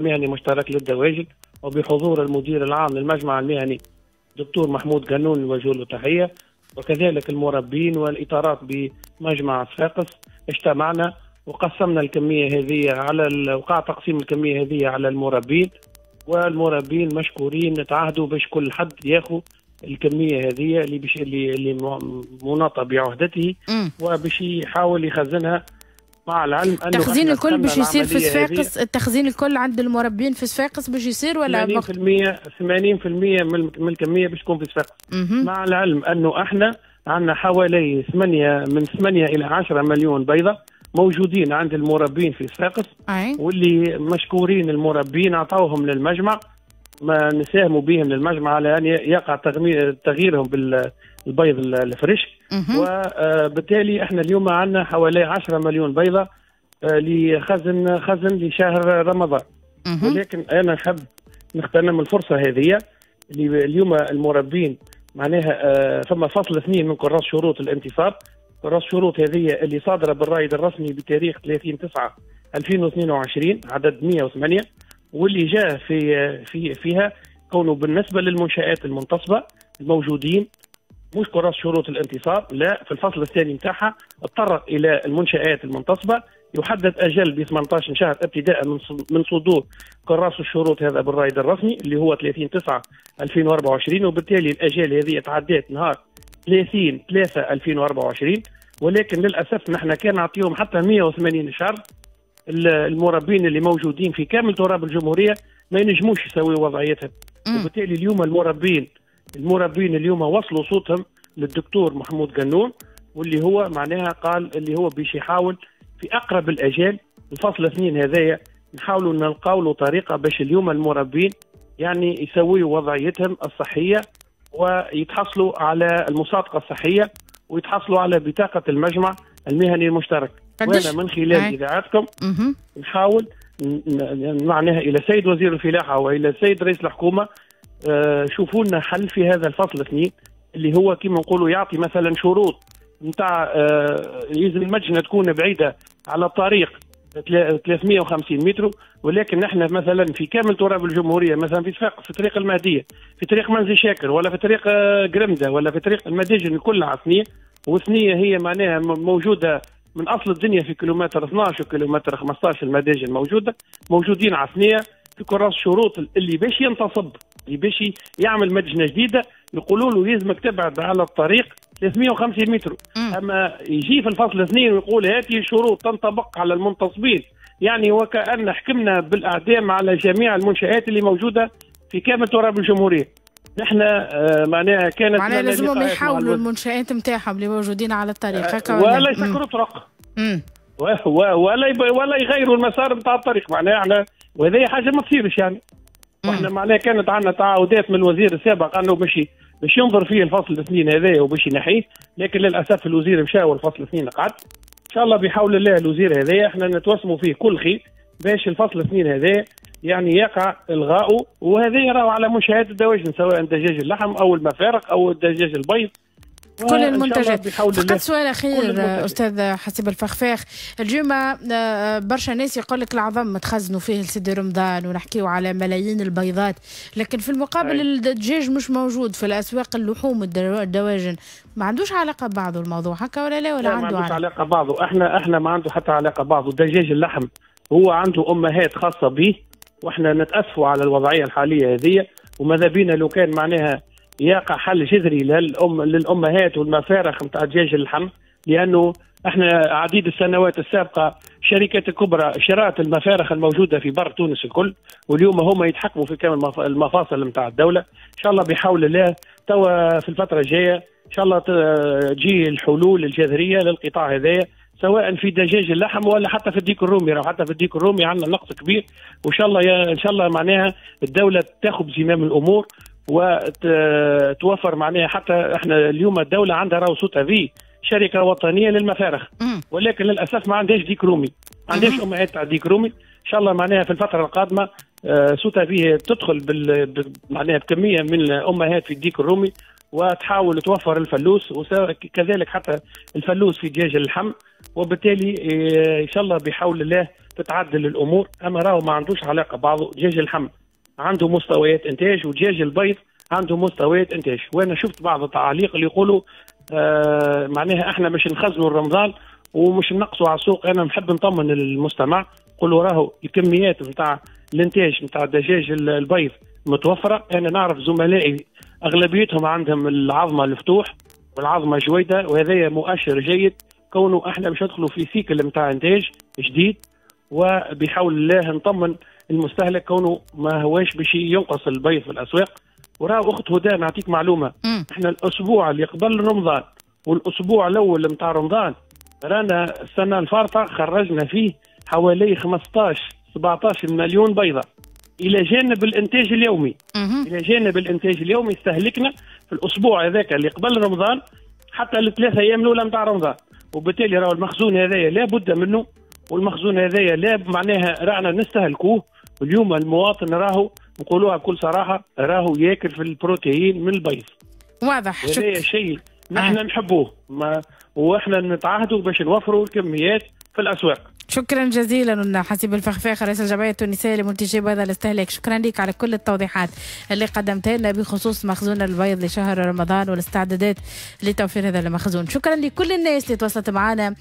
المهني المشترك للدواجن وبحضور المدير العام للمجمع المهني دكتور محمود قنون نوجه له تحية، وكذلك المربين والإطارات بمجمع صفاقس. اجتمعنا وقسمنا الكمية هذه على وقع تقسيم الكمية هذه على المربين، والمربين مشكورين تعهدوا باش كل حد ياخذ الكمية هذه اللي باش اللي مناطة بعهدته وباش يحاول يخزنها، مع العلم انه التخزين الكل باش يصير في صفاقس. التخزين الكل عند المربين في صفاقس باش يصير ولا 80% من الكمية باش تكون في صفاقس، مع العلم انه احنا عندنا حوالي 8 الى 10 مليون بيضة موجودين عند المربين في صفاقس، واللي مشكورين المربين عطاوهم للمجمع، ما نساهموا بهم للمجمع على ان يقع تغييرهم بالبيض الفريش. وبالتالي احنا اليوم عندنا حوالي 10 مليون بيضة لخزن لشهر رمضان. ولكن انا نحب نغتنم الفرصة هذه اللي اليوم المربين معناها فما فصل 2 من كراس شروط الانتصاب، كراس شروط هذه اللي صادرة بالرائد الرسمي بتاريخ 30/9/2022 عدد 108، واللي جاء في فيها كونه بالنسبة للمنشآت المنتصبه الموجودين مش كراس شروط الانتصاب، لا، في الفصل الثاني نتاعها تطرق الى المنشآت المنتصبه، يحدد اجل ب 18 شهر ابتداء من صدور كراس الشروط هذا بالرائد الرسمي اللي هو 30/9/2024، وبالتالي الاجال هذه تعدات نهار 30/3/2024. ولكن للاسف نحن كان نعطيهم حتى 180 شهر، المربين اللي موجودين في كامل تراب الجمهورية ما ينجموش يسويوا وضعيتهم. وبالتالي اليوم المربين اليوم وصلوا صوتهم للدكتور محمود قنون، واللي هو معناها قال اللي هو باش يحاول في اقرب الاجال الفصل 2 هذايا نحاولوا نلقاو له طريقه باش اليوم المربين يعني يسويوا وضعيتهم الصحية ويتحصلوا على المصادقة الصحية ويتحصلوا على بطاقة المجمع المهني المشترك. وانا من خلال اذاعتكم نحاول معناها الى سيد وزير الفلاحة والى سيد رئيس الحكومة، شوفوا لنا حل في هذا الفصل 2 اللي هو كما نقولوا يعطي مثلا شروط نتاع لازم المدجنه تكون بعيدة على الطريق 350 متر، ولكن نحن مثلا في كامل تراب الجمهورية، مثلا في صفاقس في طريق المهدية، في طريق منزل شاكر، ولا في طريق قرمده، ولا في طريق المداجن، كلها ثنيه، وثنية هي معناها موجودة من اصل الدنيا في كيلومتر 12 وكيلومتر 15 المداجن موجودين على ثنيه في كراس شروط اللي باش ينتصب، اللي باش يعمل مدجنه جديدة يقولوا له لازمك تبعد على الطريق 350 متر. اما يجي في الفصل 2 ويقول هذه الشروط تنطبق على المنتصبين، يعني وكأن حكمنا بالاعدام على جميع المنشآت اللي موجودة في كامل تراب الجمهورية. نحن معناها كانت معناها لازمهم يحاولوا المنشآت نتاعهم اللي موجودين على الطريق ولا يسكروا طرق ولا يغيروا المسار نتاع الطريق، معناها احنا وهذه حاجة ما تصيرش يعني. واحنا معناها كانت عندنا تعهدات من الوزير السابق انه باش ينظر فيه الفصل 2 هذايا وباش ينحيه، لكن للاسف الوزير مشى والفصل 2 قعد. ان شاء الله بحول الله الوزير هذايا احنا نتوسموا فيه كل خير باش الفصل 2 هذايا يعني يقع الغاؤه، وهذا راهو على منشآت الدواجن سواء دجاج اللحم او المفارق او الدجاج البيض، كل المنتجات. فقط سؤال اخير استاذ حسيب الفخفاخ، اليوم برشا ناس يقول لك العظم تخزنوا فيه لسيدي رمضان ونحكيو على ملايين البيضات، لكن في المقابل الدجاج مش موجود في الاسواق، اللحوم الدواجن ما عندوش علاقة ببعضه الموضوع هكا ولا لا؟ ولا عنده ما عندوش علاقة ببعضه. احنا ما عنده حتى علاقة ببعضه. دجاج اللحم هو عنده امهات خاصة به، واحنا نتاسفوا على الوضعية الحالية هذه، وماذا بينا لو كان معناها يقع حل جذري للامهات والمفارخ نتاع دجاج اللحم، لانه احنا عديد السنوات السابقة شركات الكبرى شرات المفارخ الموجودة في بر تونس الكل، واليوم هما يتحكموا في كامل المفاصل نتاع الدولة. ان شاء الله بحول الله توا في الفترة الجاية ان شاء الله تجي الحلول الجذرية للقطاع هذايا، سواء في دجاج اللحم ولا حتى في الديك الرومي. راهو حتى في الديك الرومي عندنا نقص كبير، وان شاء الله ان شاء الله معناها الدولة تاخذ بزمام الامور وتوفر معناها. حتى احنا اليوم الدولة عندها راهو SOTAVI شركة وطنية للمفارخ، ولكن للاسف ما عندهاش ديك رومي، ما عندهاش امهات تاع ديك رومي. ان شاء الله معناها في الفترة القادمة SOTAVI تدخل معناها بكمية من الامهات في الديك الرومي وتحاول توفر الفلوس، وكذلك حتى الفلوس في دجاج اللحم. وبالتالي ان شاء الله بحول الله تتعدل الامور. اما راهو ما عندوش علاقة بعضه، دجاج اللحم عنده مستويات انتاج ودجاج البيض عنده مستويات انتاج. وانا شفت بعض التعاليق اللي يقولوا معناها احنا مش نخزنوا رمضان ومش نقصوا على السوق. انا نحب نطمن المستمع، نقولوا راهو الكميات نتاع الانتاج نتاع دجاج البيض متوفرة. انا نعرف زملائي اغلبيتهم عندهم العظمة الفتوح والعظمة جويده، وهذا مؤشر جيد كونه احنا باش ندخلوا في cycle نتاع انتاج جديد، وبحول الله نطمن المستهلك كونه ما هواش باش ينقص البيض في الاسواق. وراه اخت هدى نعطيك معلومة، احنا الاسبوع اللي قبل رمضان والاسبوع الاول نتاع رمضان رانا السنة الفارطه خرجنا فيه حوالي 15 17 مليون بيضة الى جانب الانتاج اليومي. الى جانب الانتاج اليومي استهلكنا في الاسبوع هذاك اللي قبل رمضان حتى الثلاث ايام الاولى نتاع رمضان، وبالتالي راهو المخزون هذايا لا بد منه، والمخزون هذايا لا معناها رانا نستهلكوه. واليوم المواطن راهو نقولوها بكل صراحة راهو ياكل في البروتين من البيض. واضح. هذا شيء نحن نحبوه واحنا نتعهدوا باش نوفروا الكميات في الاسواق. شكرا جزيلا حسيب الفخفاخ رئيس الجمعية التونسية لمنتجي بيض الاستهلاك، شكرا لك على كل التوضيحات اللي قدمتها لنا بخصوص مخزون البيض لشهر رمضان والاستعدادات لتوفير هذا المخزون. شكرا لكل الناس اللي تواصلت معنا.